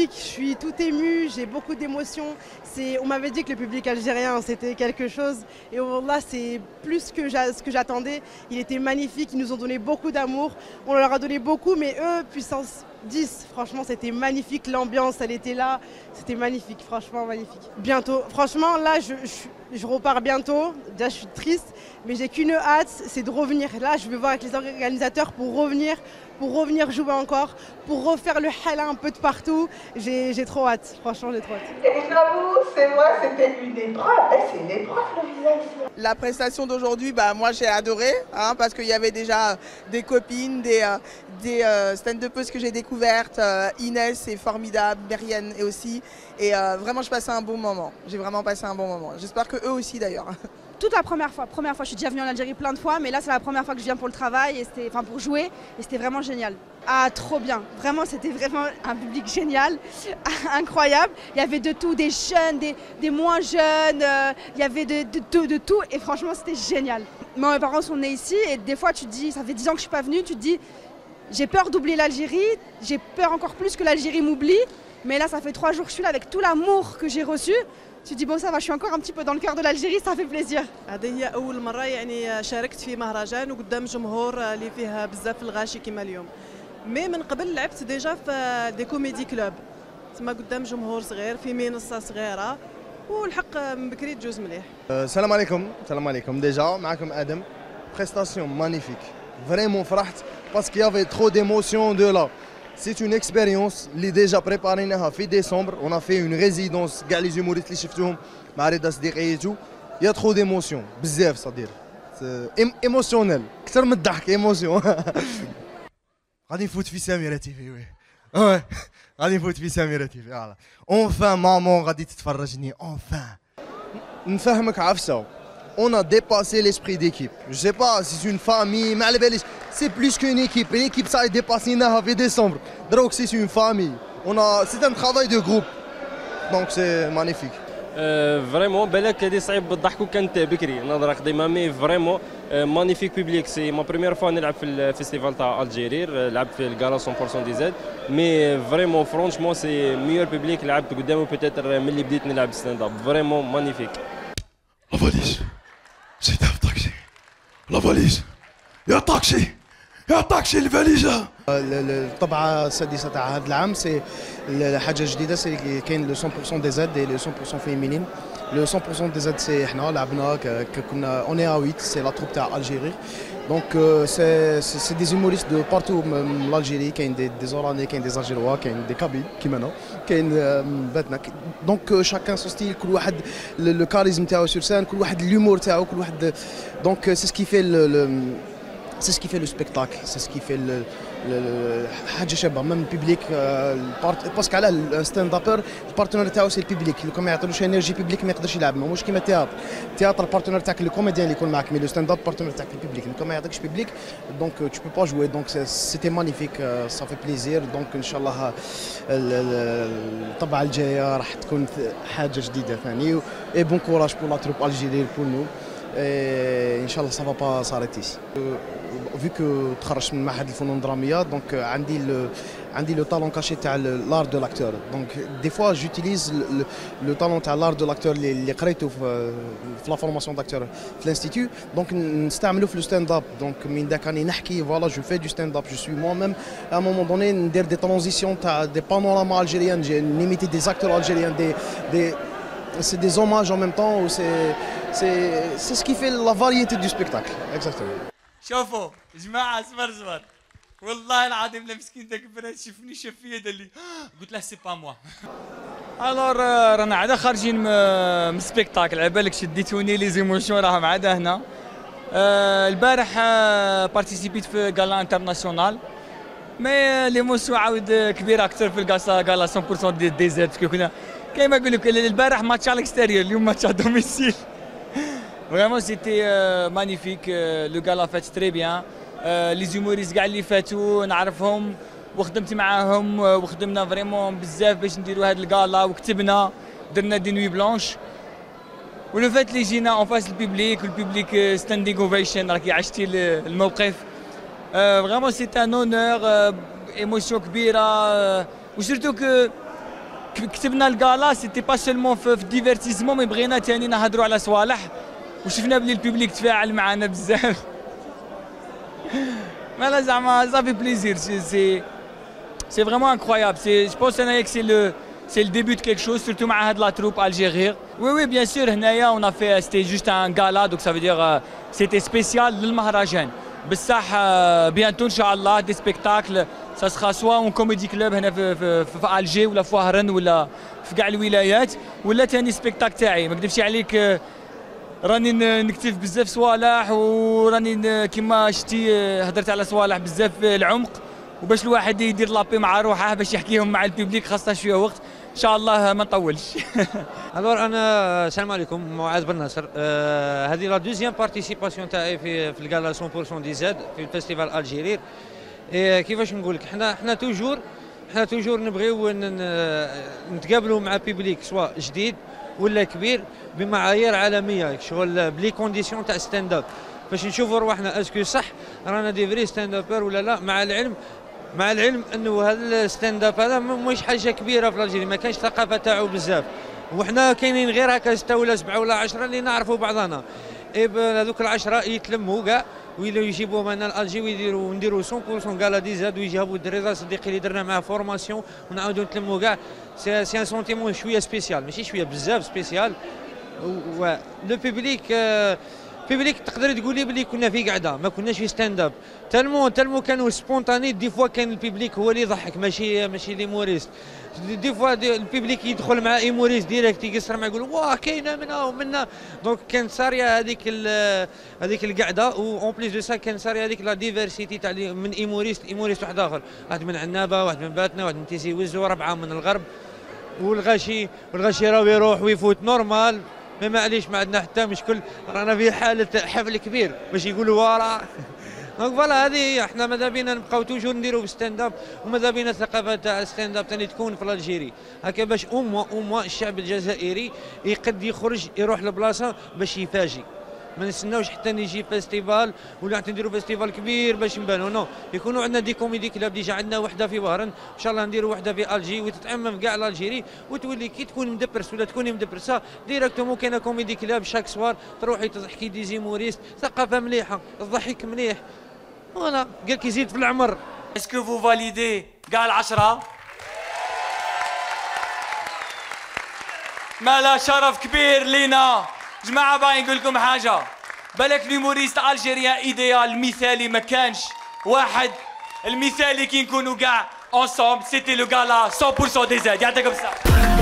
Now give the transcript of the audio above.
magnifique, je suis tout émue, j'ai beaucoup d'émotions. On m'avait dit que le public algérien c'était quelque chose et là c'est plus que ce que j'attendais. Il était magnifique, ils nous ont donné beaucoup d'amour, on leur a donné beaucoup mais eux, puissance 10, franchement c'était magnifique, l'ambiance elle était là, c'était magnifique, franchement magnifique. Bientôt, franchement là je repars bientôt, déjà je suis triste mais j'ai qu'une hâte, c'est de revenir. Là je vais voir avec les organisateurs pour revenir jouer encore, pour refaire le hala un peu de partout. J'ai trop hâte, franchement j'ai trop hâte. Et j'avoue, c'est moi, c'était une épreuve, c'est une épreuve le visa ici. La prestation d'aujourd'hui, moi j'ai adoré, parce qu'il y avait déjà des copines, des stand-upeuses que j'ai découvertes. Inès c'est formidable, Mérienne et aussi. Et vraiment je passais un bon moment, j'ai vraiment passé un bon moment. J'espère que eux aussi d'ailleurs. Toute la première fois, je suis déjà venue en Algérie plein de fois, mais là c'est la première fois que je viens pour le travail, pour jouer, et c'était vraiment génial. Ah, trop bien, vraiment c'était vraiment un public génial, incroyable. Il y avait de tout, des jeunes, des moins jeunes, il y avait de tout, et franchement c'était génial. Moi, mes parents sont nés ici, et des fois tu te dis, ça fait 10 ans que je suis pas venue, tu te dis, j'ai peur d'oublier l'Algérie, j'ai peur encore plus que l'Algérie m'oublie, mais là ça fait 3 jours que je suis là avec tout l'amour que j'ai reçu. Tu dis bon ça va, je suis encore un petit peu dans le cœur de l'Algérie, ça fait plaisir. هذه هي أول مرة يعني شاركت في مهرجان وقدام جمهور اللي فيه بزاف الغاشي كما اليوم. مي من قبل لعبت ديجا في دي كوميدي كلوب. تما قدام جمهور صغير في منصة صغيرة والحق من بكري تجوز مليح. السلام عليكم ديجا معكم آدم. Prestation magnifique. Vraiment فرحت parce qu'il y avait trop d'émotions de là. C'est une expérience اللي déjà préparée في décembre. On a fait une résidence كاع les humoristes اللي شفتوهم مع رضا صديقيتو. Il y a trop d'émotions بزاف صدير. émotionnel اكثر من الضحك émotion. غادي نفوت في سميرة تيفي وي. غادي نفوت في سميرة تيفي فوالا. Enfin مامون غادي تتفرجني enfin. نفهمك عفسة. On a dépassé l'esprit d'équipe. Je sais pas si c'est une famille, c'est plus qu'une équipe. L'équipe ça a dépassé en décembre. Donc c'est une famille. C'est un travail de groupe. Donc c'est magnifique. Vraiment, بالك هذه صعيب بالضحك وكانت بكري نظرة قديمة مي فريمون مانيفيك بيبليك سي ما بريمير فوا نلعب في الفيستيفال تاع الجيرير لعبت في الكالا 100% دي زاد مي فريمون فرونشمون سي ميور بيبليك لعبت قدامه بوتيتر من اللي بديت نلعب ستاند اب فريمون مانيفيك. La valise, c'est un taxi. La valise, يا طاكسي يا طاكسي الفاليزة. الطبعة السادسة تاع هذا العام سي حاجة جديدة سي كاين لو 100% دي زاد لو 100% فيمينين. لو 100% دي زاد سي احنا لعبنا كنا اوني ا 8 سي لا تروب تاع الجيري. دونك سي دي زوموريست دو بارتو من الجيري كاين دي زوراني كاين دي زالجيروا كاين دي كابيل كيما انا كاين باتنا دونك شاكان سو ستيل كل واحد لو كاريزم تاعو سور سان كل واحد لومور تاعو كل واحد دونك سي سكي في c'est ce qui fait le spectacle, c'est ce qui fait حاجه شابه من البيبليك باسكو على الستاند ابر البارتنر تاعو سي البيبليك لو ما يعطيلوش انرجي بيبليك ما يقدرش يلعب ماهوش كيما التياتر البارتنر تاعك الكوميديان اللي يكون معك مي لو ستاند اب بارتنر تاعك البيبليك كون ما يعطيكش بيبليك دونك تو بو با جوي دونك سيتي مانيفيك صافي بليزير دونك ان شاء الله الطبعه الجايه راح تكون حاجه جديده ثاني اي بون كوراج بور لا تروب الجيري بور نو ان شاء الله سافا با ساريتي vu que تخرجت من معهد الفنون الدراميه دونك عندي لو طالون كاشي تاع لار دو لاكتور دونك دي فوا جوتيليز لو طالون تاع لار دو لاكتور اللي قريته في لا فورماسيون داكتور في الانستيتو دونك نستعملو في لو ستاند اب دونك من داك راني نحكي فوالا جو في دو ستاند اب جو سوي موا ميم ا مومون دوني ندير دي ترانزيسيون تاع دي بانوراما الجيريان نيميتي دي زاكتور الجيريان دي c'est des hommages en même temps ou c'est ce qui fait la variété du spectacle exactement. شوفوا يا جماعه زمر والله العظيم لا مسكين داك البنات شافني شاف فيا دار لي قلت له سي با موا. الور رانا عاد خارجين من السبيكتاكل على بالك شديتوني لي زيموشن راهم عاد هنا. البارح بارتيسيبيت في غالا انترناسيونال مي ليموسيون عاود كبيره اكثر في غالا 100% دي زاد كنا كيما نقول لك البارح ماتش على الاكستيريور اليوم ماتش على دوميسيل. Vraiment c'était magnifique, le gala fait très bien, les humoristes كاع اللي فاتوا نعرفهم وخدمت معاهم وخدمنا فريمون بزاف باش نديروا هذا الغالا وكتبنا درنا دي نوي بلانش ولو فات اللي جينا اون فاس البيبليك ستاندينغ اوفيشن راكي عشتي الموقف فريمون سي ان اونور ايموسيون كبيره وسورتو كو كتبنا الكالا سيتي با سولمون في الديفيرتيزمون، مي بغينا ثاني نهضروا على صوالح، وشفنا بلي البوبليك تفاعل معنا بزاف. مالا زعما صافي بليزير، سي فريمون انكرويابل. جو بونس انايا كو سي le début de quelque chose, surtout مع هاد لا troupe algérienne. Oui bien sûr, هنايا on a fait c'était juste un gala, donc ça veut dire c'était spécial للمهرجان. بصح bientôt ان شاء الله دي سبيكتاكل ça sera soit en comédie club هنا في الجي ولا في وهران ولا في كاع الولايات، ولا ثاني سبيكتاك تاعي. ما نكذبش عليك راني نكتب بزاف صوالح، وراني كيما شتي هضرت على صوالح بزاف العمق، وباش الواحد يدير لابي مع روحه باش يحكيهم مع البيبليك خاصه شويه وقت. ان شاء الله ما نطولش. الور انا السلام عليكم، معاذ بن ناصر. هذه لا دوزيام بارتيسيباسيون تاعي في الكالا 100% دي زاد في الفيستيفال الجيرير. كيفاش نقول لك، حنا توجور نبغيو نتقابلوا مع بيبليك سواء جديد ولا كبير بمعايير عالميه، شغل بلي كونديسيون تاع ستاند اب، باش نشوفوا رواحنا اسكو صح رانا دي فري ستاند ابر ولا لا. مع العلم انه هذا الستاند اب هذا مش حاجه كبيره في الجزائر، ما كانش ثقافه تاعو بزاف، وحنا كاينين غير هكا 6 ولا 7 ولا 10 اللي نعرفوا بعضنا. هذوك ال10 يتلموا كاع ويجيبوا معنا الجي ونديروا 100% كالا دي زاد، ويجيبوا الدري صديقي اللي درنا معاه فورماسيون ونعاودوا نتلموا كاع. سي ان سونتيمون شويه سبيسيال، ماشي شويه بزاف سبيسيال. و لو بيبليك تقدر تقولي بلي كنا في قعده، ما كناش في ستاند اب. تالمو كانوا سبونتاني. دي فوا كان البيبليك هو اللي يضحك، ماشي ليموريست. دي فوا البيبليك يدخل مع ايموريست ديريكت يقصر معاه يقول واه كاينه منا ومنا. دونك كانت صاريه هذيك القعده، اون بليس دو سا كان صاريه هذيك لا ديفيرسيتي تاع من ايموريست واحد اخر، واحد من عنابه، واحد من باتنا، واحد من تيزي وزو، 4 من الغرب. والغاشي راهو يروح ويفوت نورمال. ما عليش ما عندنا حتى مشكل، رانا في حاله حفل كبير باش يقولوا ورا. دونك فوالا هذه احنا ماذا بينا نبقاو توجور نديرو ستاند اب، وماذا بينا الثقافه تاع ستاند اب ثاني تكون في الجيري هكا، باش او الشعب الجزائري يقد يخرج يروح لبلاصه باش يفاجئ. ما نستناوش حتى نجي فيستيفال ولا حتى نديروا فيستيفال كبير باش نبانوا، نو يكونوا عندنا دي كوميدي كلاب. ديجا عندنا وحده في وهران، ان شاء الله نديروا وحده في الجي وتتعمم كاع الجيري، وتولي كي تكون مدبرس ولا تكوني مدبرسه ديريكتومون كاينه كوميدي كلاب شاك سوار تروحي تضحكي دي زيموريست، ثقافه مليحه، الضحك مليح. فوالا قال كي يزيد في العمر. اسكو فو فاليدي كاع ال10؟ مالا شرف كبير لينا جماعه. باغي نقول لكم حاجه، بالك ليموريست الجيريان ايديال مثالي ما كانش واحد. المثالي كي نكونوا كاع انصومبل سيتي لو غالا 100% دي زاد. يعطيكم الصحه.